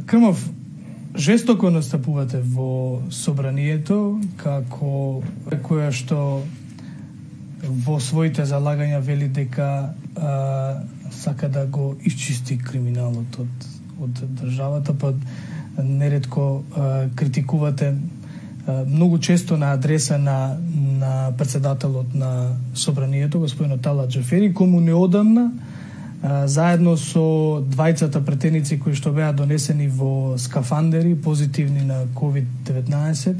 Крмов, жестоко настапувате во собранието како која што во своите залагања вели дека сака да го исчисти криминалот од државата, па неретко критикувате многу често на адреса на претседателот на собранието, господинот Талат Џафери, кому неодамна заедно со двајцата претеници кои што беа донесени во скафандери позитивни на COVID-19,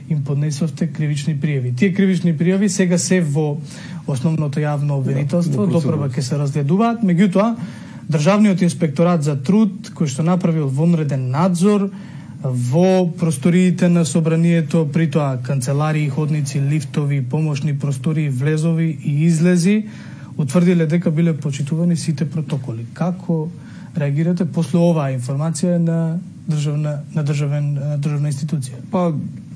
им поднесовте кривични пријави. Тие кривични пријави сега се во основното јавно обвинителство, допрва ќе се разгледуваат, меѓутоа Државниот инспекторат за труд, кој што направил вонреден надзор во просториите на собранието, притоа канцеларии, ходници, лифтови, помошни простории, влезови и излези, утврдиле дека биле почитувани сите протоколи. Како реагирате после оваа информација на државна институција? Па,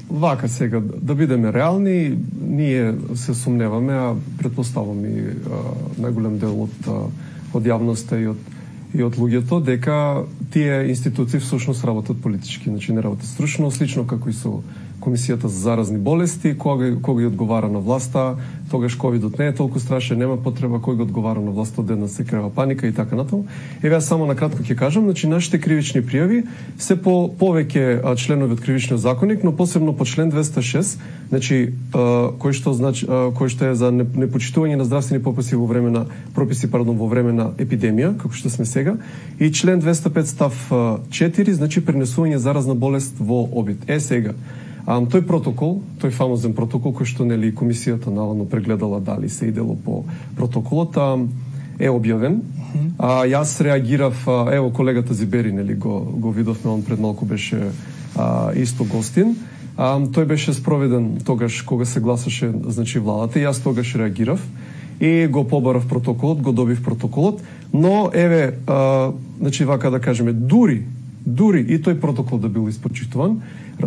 вака сега, да бидеме реални, ние се сумневаме, а предпоставам и најголем дел од јавноста и од луѓето, дека тие институции всушност работат политички, значи не работат стручно, слично како и со Комисијата за заразни болести, кога ги одговара на власта, тогаш ковидот не е толку страшен, нема потреба, кој го одговара на власта, одеднаш се крева паника и така натаму. Еве само на кратко ќе кажам, значи нашите кривични пријави се по повеќе членови од кривичниот законник, но посебно по член 206, значи кој што е за непочитување на здравствени прописи во време на епидемија, како што сме сега, и член 205 став 4, значи пренесување заразна болест во обид. Сега тој протокол, тој фамозен протокол кој што нели комисијата наводно прегледала дали се идело по протоколот, е објавен. Јас реагирав, ево колегата Зибери нели го видовме, он пред малку беше исто гостин. Тој беше спроведен тогаш кога се гласаше значи владата, и јас тогаш реагирав и го побарав протоколот, го добив протоколот, но еве значи вака да кажеме, дури и тој протокол да бил испочитуван,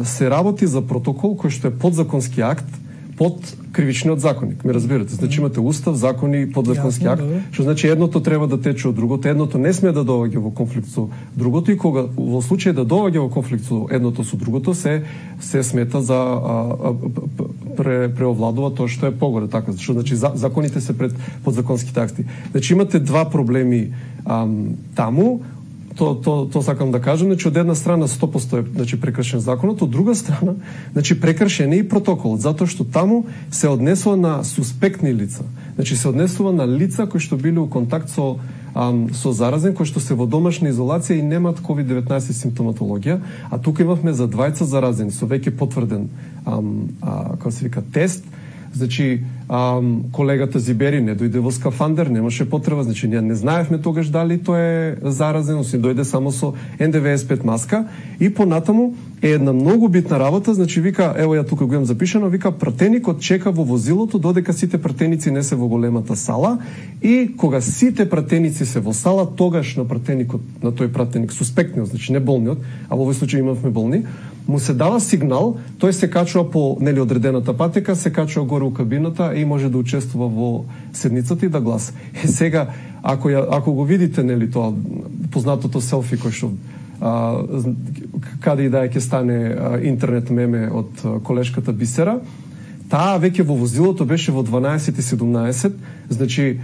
се работи за протокол кој што е подзаконски акт под кривичниот законник. Ме разбирате? Значи имате устав, закони, подзаконски акт, што значи едното треба да тече од другото, едното не смее да доаѓа во конфликт со другото, и кога во случај да доаѓа во конфликт со едното со другото, се смета за преовладува тоа што е погоре, така, што значи законите се пред подзаконските акти. Значи имате два проблеми таму. То сакам да кажам, значи од една страна 100% е значи прекршен законот, од друга страна значи прекршен е и протоколот, затоа што таму се однесува на суспектни лица. Значи се однесува на лица кои што биле во контакт со заразен, кои што се во домашна изолација и немаат COVID-19 симптоматологија, а тука имавме за двајца заразени со веќе потврден како се вика тест. Значи, колегата Зибери не дојде во скафандер, немаше потреба, значи ние не знаевме тогаш дали тој е заразен, освен дојде само со НДВС-5 маска, и понатаму е една многу битна работа, значи вика, ево ја тука го имам запишано, вика пратеникот чека во возилото додека сите пратеници не се во големата сала, и кога сите пратеници се во сала, тогаш на пратеникот, на тој пратеник, суспектниот, значи не болниот, а во овој случај имавме болни, му се дава сигнал, тој се качува по нели одредената патека, се качува горе у кабината и може да учествува во седницата и да гласа. Сега, ако го видите нели тоа познатото селфи кој што каде и да ќе стане интернет меме од колешката Бисера, таа веќе во возилото беше во 12:17, значи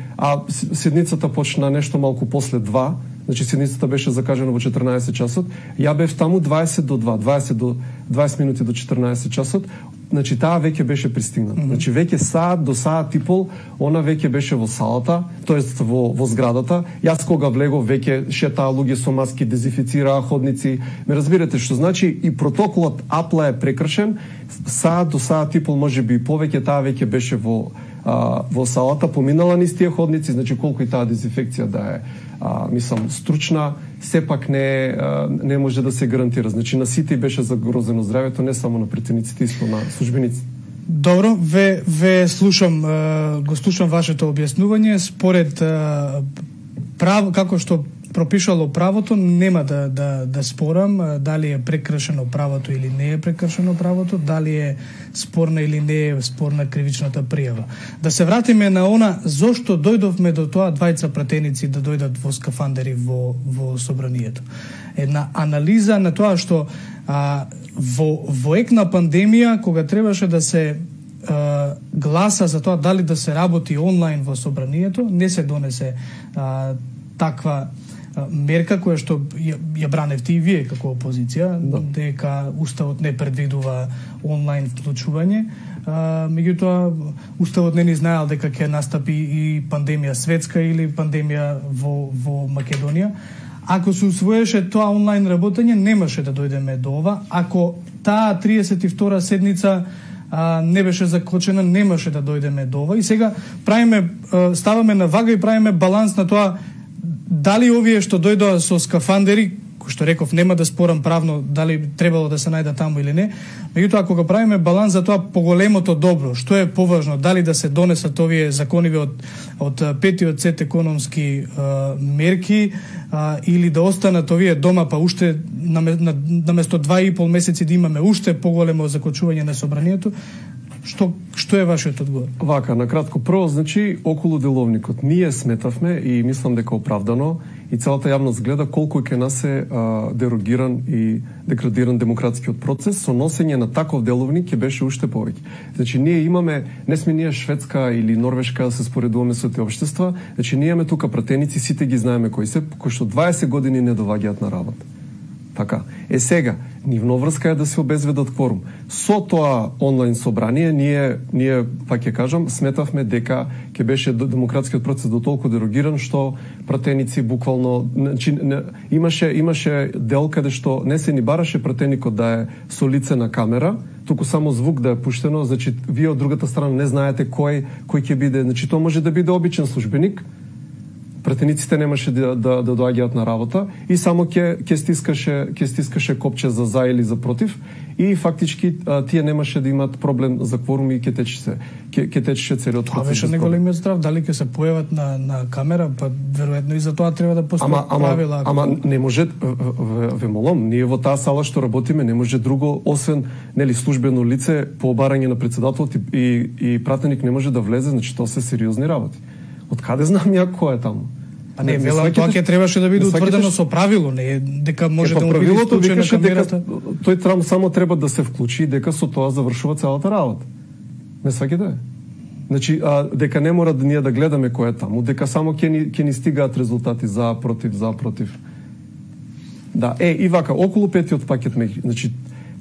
седницата почна нешто малку после 2. Значи седницата беше закажана во 14 часот. Ја бев таму 20 минути до 14 часот. Значи таа веќе беше пристигната. Значи веќе саат до саат и пол она веќе беше во салата, тоест во зградата. Јас кога влегов веќе шетаа луѓе со маски, дезинфицираа ходници. Ме разбирате што значи и протоколот апла е прекршен. Саат до саат и пол, можеби и повеќе, таа веќе беше во салата, поминала низ тие ходници, значи колку и таа дезинфекција да е мислам стручна, сепак не може да се гарантира. Значи на сите беше загрозено здравјето, не само на претениците, исто на службениците. Добро, ве слушам, го слушам вашето објаснување. Според како што пропишало правото, нема да спорам дали е прекршено правото или не е прекршено правото, дали е спорна или не е спорна кривичната пријава. Да се вратиме на она зошто дојдовме до тоа двајца пратеници да дојдат во скафандери во собранието. Една анализа на тоа што во ек на пандемија, кога требаше да се гласа за тоа дали да се работи онлайн во собранието, не се донесе таква мерка која што ја браневте и вие како опозиција, дека уставот не предвидува онлайн вклучување. Меѓутоа, уставот не ни знаел дека ќе настапи и пандемија светска или пандемија во Македонија. Ако се усвоеше тоа онлайн работење, немаше да дојдеме до ова. Ако таа 32 седница не беше закочена, немаше да дојдеме до ова. И сега ставаме на вага и правиме баланс на тоа дали овие што дојдоа со скафандери, кој што реков, нема да спорам правно дали требало да се најда таму или не, меѓутоа ако го правиме баланс за тоа поголемото добро, што е поважно, дали да се донесат овие закониви од петиот сет економски мерки или да останат овие дома, па уште наместо 2,5 месеци да имаме уште поголемо закочување на собранието. Што е вашиот одговор? Вака, на кратко, прво, значи, околу деловникот. Ние сметавме и мислам дека оправдано и целата јавност гледа колку ќе нас е дерогиран и деградиран демократскиот процес, со носење на таков деловник ќе беше уште повеќе. Значи, ние имаме, не сме ние Шведска или Норвешка да се споредуваме со тие општества, значи ние имаме тука пратеници, сите ги знаеме кои се, кои што 20 години не доваѓаат на работа. Така. Сега, нивно врска е да се обезведат кворум. Со тоа онлайн собрание, ние пак ќе кажам, сметавме дека ќе беше демократскиот процес до толку дерогиран, што пратеници буквално, значи, имаше дел каде што не се ни бараше пратеникот да е со лице на камера, туку само звук да е пуштено, значи вие од другата страна не знаете кој ќе биде, значи тоа може да биде обичен службеник, пратениците немаше да доаѓаат на работа и само ќе стискаше копче за или за против и фактички тие немаше да имаат проблем за кворум и ќе течеше целиот процес. Това беше неголемиот страв, дали ќе се појават на камера, па веројатно и за тоа треба да постојат правила. Ама не може, ве молам, ние во таа сала што работиме не може друго освен службено лице по обарање на председателот и пратеник не може да влезе, значи тоа се сериозни работи. Од каде знам ја кој е таму? А не, велам, тоа ќе требаше да биде утврдено со правило, не дека може да му биде исклучена камерата. Тој само треба да се вклучи, дека со тоа завршува целата работа. Не сваќате? Значи, дека не мора да ние да гледаме кој е таму, дека само ќе ни стигаат резултати за, против. Да, и вака, околу петиот пакет мерки. Значи,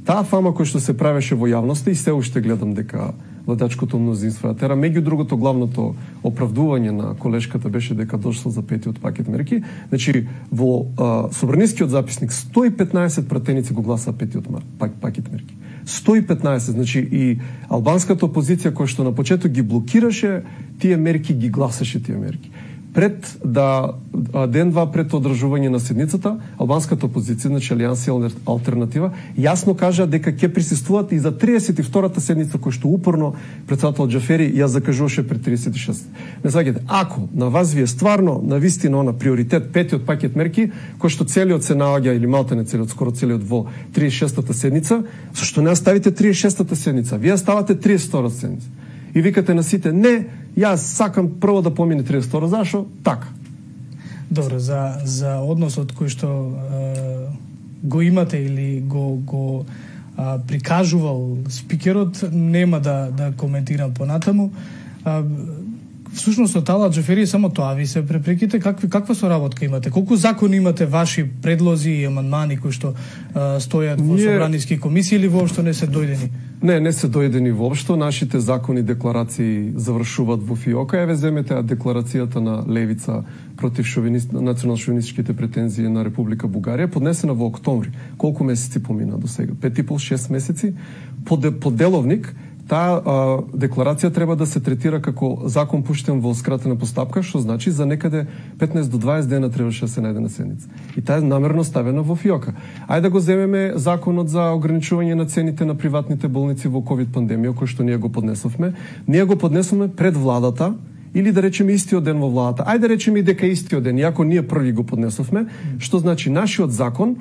таа фама која што се правеше во јавноста и се уште гледам дека владачкото мнозинство ја тера. Меѓу другото, главното оправдување на колешката беше дека дошло за петиот пакет мерки. Значи, во собранискиот записник 115 пратеници го гласа петиот пакет мерки. 115, значи и албанската опозиција која што на почеток ги блокираше тие мерки, ги гласаше тие мерки. Пред ден-два пред одржување на седницата, албанската опозиција, значи Алијанса Алтернатива, јасно кажа дека ќе присуствуваат и за 32-та седница која што упорно председател Џафери ја закажуваше пред 36. Не сваќате, ако на вас ви е стварно на вистина на приоритет петиот пакет мерки, кој што целиот се наоѓа или малте целиот, скоро целиот во 36-та седница, зашто не ставите 36-та седница? Вие ставате 32-та седница. И викате на сите, не, јас сакам прво да помине 32, зашо? Така. Добро, за односот кој што го имате или го прикажувал спикерот, нема да коментирам понатаму. Всушност од Ала Џафери само тоа ви се препреките, каква соработка имате? Колку закони имате ваши предлози и амандмани кои што стојат во собраниски комисии или воопшто не се дојдени? Не се дојдени воопшто. Нашите закони, декларации завршуваат во ФИОКа. Еве земете декларацијата на Левица против национално-шовинистичките претензии на Република Бугарија, поднесена во октомври. Колку месеци помина до сега? 5,5-6 месеци. По деловник таа декларација треба да се третира како закон пуштен во скратена постапка, што значи за некаде 15 до 20 дена требаше да се најде на седница. И таа е намерно ставена во ФИОКа. Ајде да го земеме законот за ограничување на цените на приватните болници во ковид пандемија, кој што ние го поднесовме. Ние го поднесовме пред владата или да речеме истиот ден во владата. Ајде да речеме и дека истиот ден, иако ние први го поднесовме, што значи нашиот закон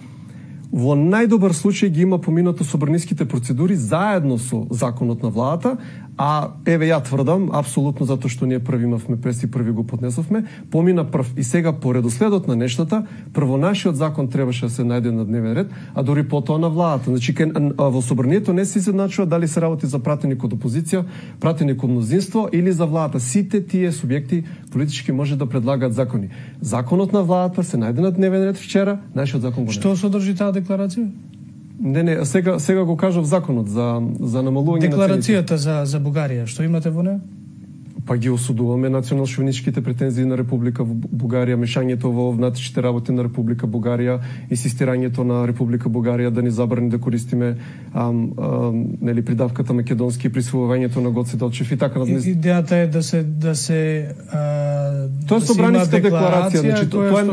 во најдобар случај ги има поминато собраниските процедури заедно со законот на владата, а еве ја тврдам, апсолутно затоа што ние први имавме прес и први го поднесовме, помина прв. И сега по редоследот на нештата, прво нашиот закон требаше да се најде на дневен ред, а дури потоа на владата. Значи во собранието не се изедначува дали се работи за пратеник од опозиција, пратеник од мнозинство или за владата. Сите тие субјекти политички може да предлагаат закони. Законот на владата се најде на дневен ред вчера, нашиот закон го не. Што содржи таа декларација? Не, сега го кажав законот за намалување на декларацијата за Бугарија, што имате во неа? Па ги осудуваме национал-шовиничките претензии на Република Бугарија, мешањето во внатрешните работи на Република Бугарија, инсистирањето на Република Бугарија да ни забрани да користиме нели придавката македонски, присвојувањето на Гоце Делчев и така натаму. Идејата е да се тоа е собраниска декларација, значи тоа е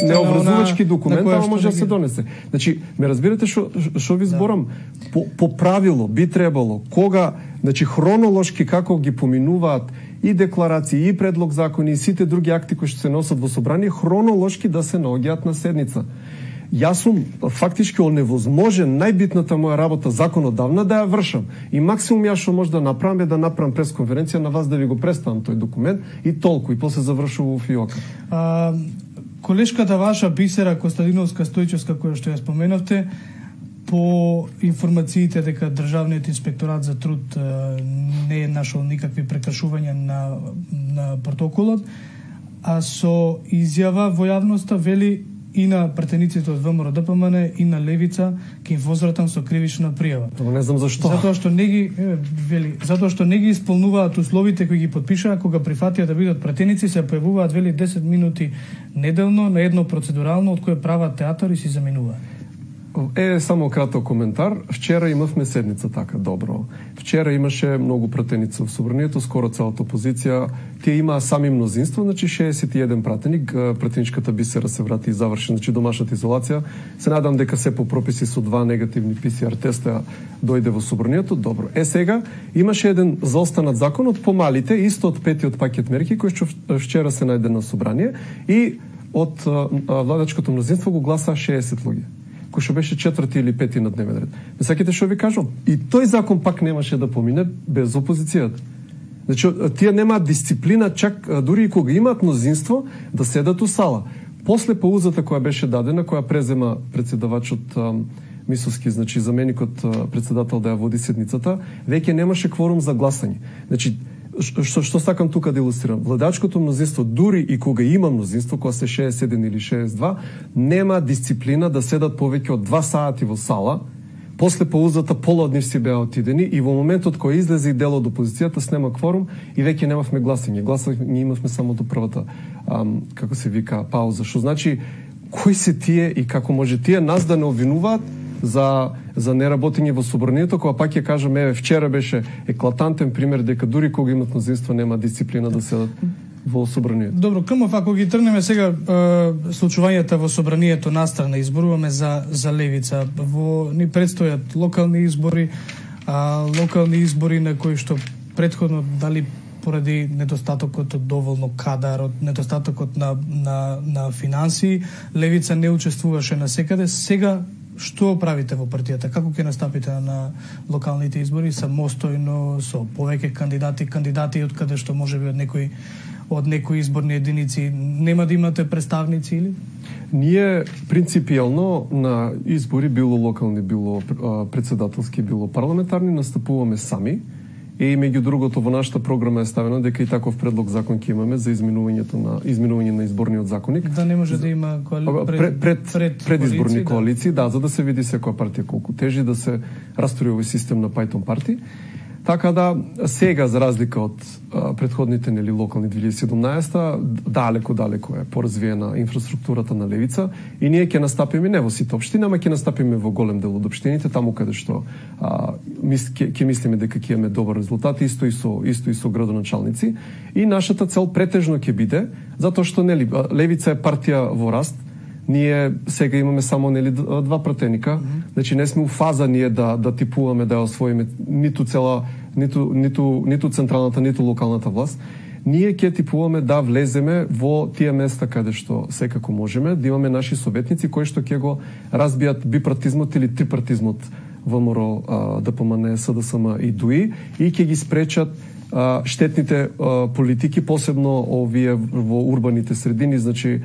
необврзувачки документ, ама може да се донесе. Значи, ме разбирате што ви зборам? По правило би требало кога, значи хронолошки како ги поминуваат и декларации, и предлог закони, и сите други акти кои што се носат во собрание, хронолошки да се наоѓаат на седница. Јас сум фактички оневозможен најбитната моја работа законодавна да ја вршам. И максимум ја што може да направам е да направам пресконференција на вас да ви го представам тој документ и толку, и после завршува во фиока. Колешката ваша Бисера Костадиновска Стојчевска, која што ја споменавте, по информациите дека Државниот инспекторат за труд не е нашол никакви прекршувања на протоколот, а со изјава во јавноста вели и на пратениците од ВМРО ДПМН и на Левица ќе им возвратам со кривична пријава. Не знам зашто. Затоа што не ги исполнуваат условите кои ги подпишаа кога прифатија да бидат пратеници, се појавуваат вели 10 минути неделно на едно процедурално од кое прават театар и си заминуваат. Само краток коментар. Вчера имавме седница така добро. Вчера имаше многу пратеници во собранието, скоро целата опозиција. Тие имаа сами мнозинство, значи 61 пратеник. Пратеничката Бисера се врати и заврши, значи домашната изолација. Се надам дека се по прописи со 2 негативни ПСР теста дојде во собранието. Добро. Сега имаше еден заостанат закон од помалите, исто од петиот пакет мерки кој што вчера се најде на собрание и од владачкото мнозинство го гласа 60 луѓе, кој што беше 4 или 5 на дневен ред. Не сакате што ви кажам? И тој закон пак немаше да помине без опозицијата. Значи, тие немаат дисциплина, чак дури и кога имаат мнозинство, да седат у сала. После паузата која беше дадена, која презема председавачот Мисовски, значи заменикот председател да ја води седницата, веќе немаше кворум за гласање. Значи, што сакам тука да илустрирам? Владачкото мнозинство, дури и кога има мнозинство, кога се 61 или 62, нема дисциплина да седат повеќе од 2 сати во сала. После паузата пола од нив си беа отидени и во моментот кој излезе и дел од опозицијата снема кворум и веќе немавме гласање. Гласање имавме само до првата, како се вика, пауза. Што значи, кои се тие и како може тие нас да не обвинуваат за неработење во собранието, кога пак ја кажам, еве вчера беше еклатантен пример дека дури кога имат мнозинство нема дисциплина да седат во собранието. Добро, Крмов, ако ги тргнеме сега случувањата во собранието настрана, изборуваме за Левица, ни предстојат локални избори на кои што претходно дали поради недостатокот од доволно кадар, од недостатокот на финансии, Левица не учествуваше насекаде. Сега што правите во партијата? Како ќе настапите на локалните избори? Самостојно, со повеќе кандидати од каде што можеби од некои изборни единици нема да имате представници или? Ние принципијално на избори, било локални, било председателски, било парламентарни, настапуваме сами. И меѓу другото во нашата програма е ставено дека и таков предлог закон ќе имаме за изменување на изборниот законник. Да не може да има предизборни коалиции, да, за да се види секоја партија колку тежи да се раструи овој систем на Python парти. Така да сега за разлика од претходните локални 2017, далеко е поразвиена инфраструктурата на Левица и ние ќе настапиме не во сите општини, ама ќе настапиме во голем дел од општините, таму каде што ќе мислиме дека ќе имаме добар резултат, исто и со градоначалници. И нашата цел претежно ќе биде, затоа што Левица е партија во раст. Ние сега имаме само 2 пратеника, значи не сме у фаза ние да типуваме да ја освоиме ниту централната, ниту локалната власт. ние ќе типуваме да влеземе во тие места каде што секако можеме, да имаме наши советници кои што ќе го разбијат бипартизмот или трипартизмот ВМРО, ДПМН, СДСМ и ДУИ и ќе ги спречат штетните политики, посебно овие во урбаните средини, значи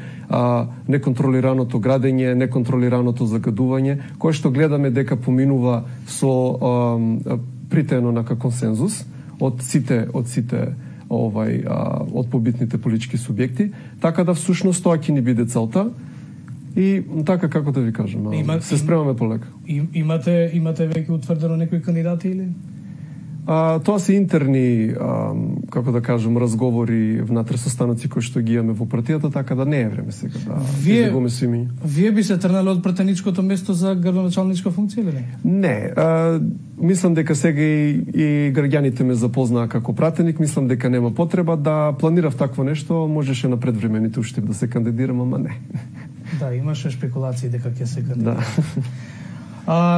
неконтролираното градење, неконтролираното загадување, кое што гледаме дека поминува со притеено на консензус од сите од побитните политички субјекти, така да всушност тоа ќе ни биде целта. И така, како да ви кажам, се спремаме полека. Имате веќе утврдено некои кандидати или? Тоа се интерни, како да кажем, разговори внатре состаноци кои што ги имаме во партијата, така да не е време сега да излегуваме сви. Вие би се тргнале од пратеничкото место за градоначалничка функција или не? Не, мислам дека сега и граѓаните ме запознаа како пратеник, мислам дека нема потреба да планирав такво нешто, можеше на предвремените уште да се кандидирам, ама не. Да, имаше шпекулации дека ќе се кандидира. Да.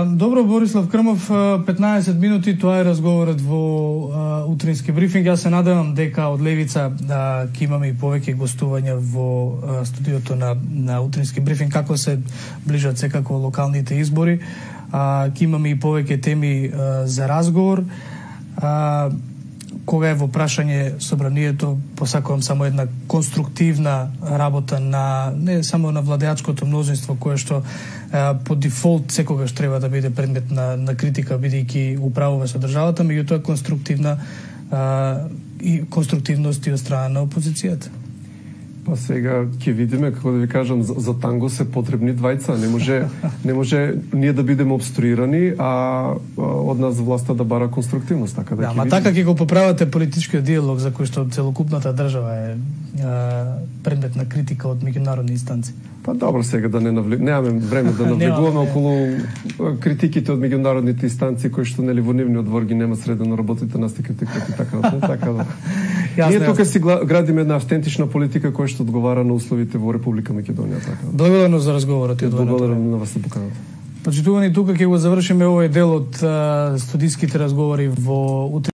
Добро, Борислав Крмов, 15 минути, тоа е разговорот во утрински брифинг. Јас се надевам дека од Левица ќе имаме и повеќе гостувања во студиото на утрински брифинг, како се ближат секако локалните избори. Ќе имаме и повеќе теми за разговор. Кога е во прашање собранието, посакувам само една конструктивна работа не само на владеачкото мнозинство, кое што по дефолт секогаш треба да биде предмет на критика, бидејќи управува со државата, меѓутоа конструктивност и од страна на опозицијата. Па сега ќе видиме, како да ви кажам, за танго се потребни двајца. Не може ние да бидеме обструирани, а од нас власта да бара конструктивност, така да ќе видиме. Така ќе го поправате политичкиот диалог за кој што целокупната држава е предмет на критика од меѓународни инстанции. Па добро, сега да немаме време да навлегуваме околу критиките од меѓународните инстанции кои што нели во нивниот двор ги нема средено работите нас критикати така да. Ние тука си градиме една автентична политика која што одговара на условите во Република Македонија, така. Благодарно за разговорот и одвоеното. Благодарам на вас за поканата. Почитувани, тука ќе го завршиме овој дел од студиските разговори во